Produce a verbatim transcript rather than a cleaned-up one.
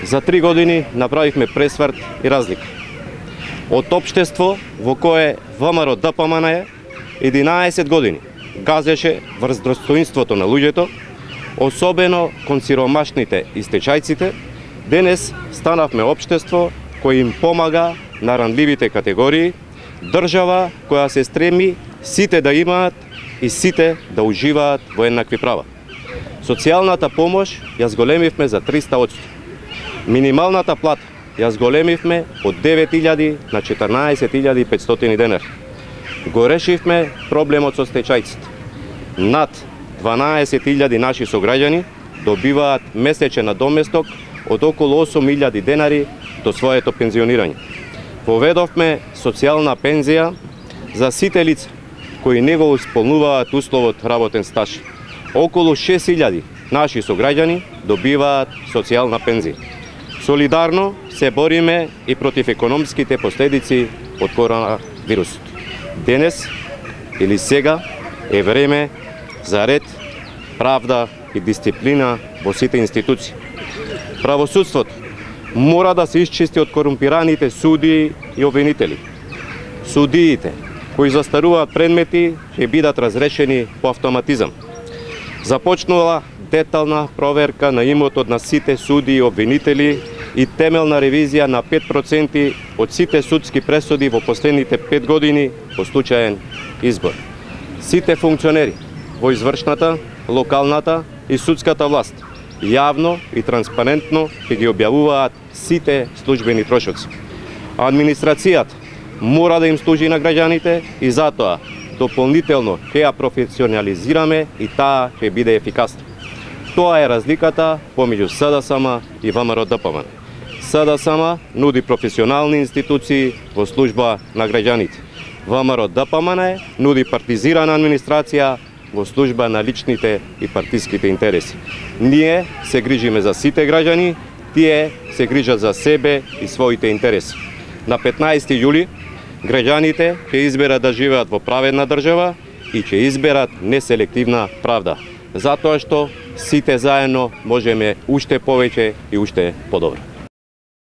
За три години направивме пресврт и разлика. Од општество во кое ВМРО Д П М Н е единаесет години газеше врз достоинството на луѓето, особено кон сиромашните и стечајците, денес станавме општество кој им помага на ранливите категории, држава која се стреми сите да имаат и сите да уживаат во еднакви права. Социјалната помош ја зголемивме за триста одсто. Минималната плата ја зголемивме од девет илјади на четрнаесет илјади и петстотини денари. Го решивме проблемот со стечајците. Над дванаесет илјади наши сограѓани добиваат месечен надоместок од околу осум илјади денари до своето пензионирање. Поведовме социјална пензија за сите лица кои не го исполнуваат условот работен стаж. Околу шест илјади наши сограѓани добиваат социјална пензија. Солидарно се бориме и против економските последици од коронавирусот. Денес или сега е време за ред, правда и дисциплина во сите институции. Правосудството мора да се исчисти од корумпираните судии и обвинители. Судиите кои застаруваат предмети ќе бидат разрешени по автоматизам. Започнала детална проверка на имотот на сите судии и обвинители и темелна ревизија на пет проценти од сите судски пресуди во последните пет години по случаен избор. Сите функционери во извршната, локалната и судската власт јавно и транспарентно ќе ги објавуваат сите службени трошоци. Администрацијата мора да им служи на граѓаните и затоа дополнително ќе ја професионализираме и таа ќе биде ефикасна. Тоа е разликата помеѓу С Д С М и ВМРО Д П М Н. С Д С М нуди професионални институции во служба на граѓаните. ВМРО Д П М Н нуди партизирана администрација во служба на личните и партиските интереси. Ние се грижиме за сите граѓани, тие се грижат за себе и своите интереси. На петнаесети јули граѓаните ќе изберат да живеат во праведна држава и ќе изберат неселективна правда, затоа што сите заедно можеме уште повеќе и уште подобро.